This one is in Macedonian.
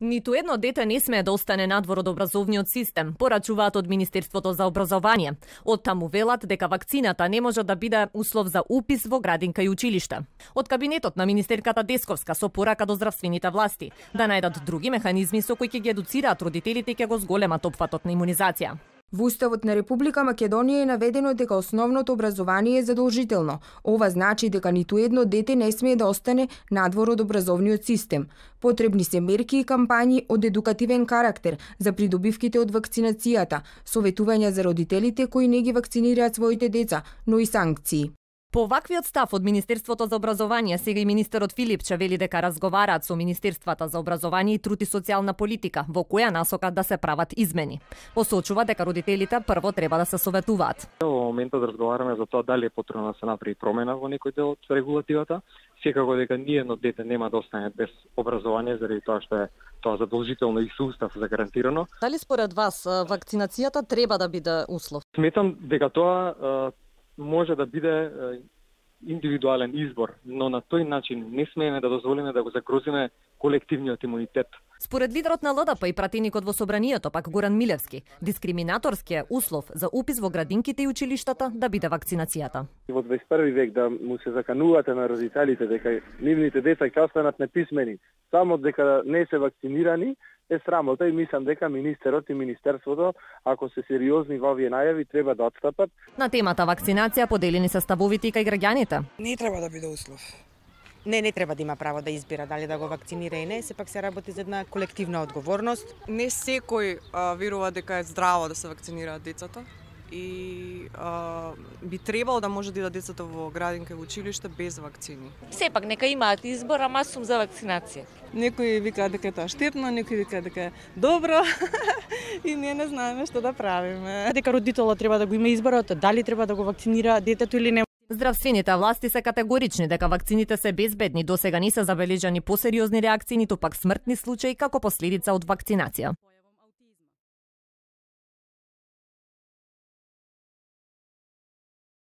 Ниту едно дете не смее да остане надвор од образовниот систем, порачуваат од Министерството за образование. Од таму велат дека вакцината не може да биде услов за упис во градинка и училишта. Од кабинетот на министерката Десковска со порака до здравствените власти да најдат други механизми со кои ќе ги едуцираат родителите и ќе го зголемат опфатот на имунизација. Во Уставот на Република Македонија е наведено дека основното образование е задолжително. Ова значи дека ниту едно дете не смее да остане надвор од образовниот систем. Потребни се мерки и кампањи од едукативен карактер за придобивките од вакцинацијата, советувања за родителите кои не ги вакцинираат своите деца, но и санкции. По ваквиот став од Министерството за образование, сега и министерот Филипче вели дека разговараат со Министерствата за образование и труд и социјална политика, во која насока да се прават измени. Посочува дека родителите прво треба да се советуваат. Во моментот разговараме за тоа дали е потребно да се направи промена во некој дел од регулативата. Секако дека ниедно дете нема да остане без образование заради тоа што е тоа задолжително и со устав загарантирано. Дали според вас вакцинацијата треба да биде услов? Сметам дека тоа може да биде индивидуален избор, но на тој начин не смееме да дозволиме да го загрозиме колективниот имунитет. Според лидерот на ЛДП и пратеникот во Собранието, пак Горан Милевски, дискриминаторскиот услов за упис во градинките и училиштата да биде вакцинацијата. Во 21 век да му се заканувате на родителите дека нивните деца ќе останат неписмени само дека не се вакцинирани, е срамота и мислам дека министерот и министерството, ако се сериозни во овие најави, треба да отстапат. На темата вакцинација поделени се ставовите и кај граѓаните. Не треба да биде услов. Не треба да има право да избира дали да го вакцинира и не, сепак се работи за една колективна одговорност. Не секој верува дека е здраво да се вакцинираат децата и би требало да може да идат децата во градинка и во училиште без вакцини. Сепак нека имаат избор, ама сум за вакцинација. Некои викаат дека тоа штетно, некои викаат дека е добро и ние не знаеме што да правиме. Дека родителот треба да го има изборот дали треба да го вакцинира детето или не. Здравствените власти се категорични дека вакцините се безбедни, досега не се забележани посериозни реакции, ниту пак смртни случаи како последица од вакцинација.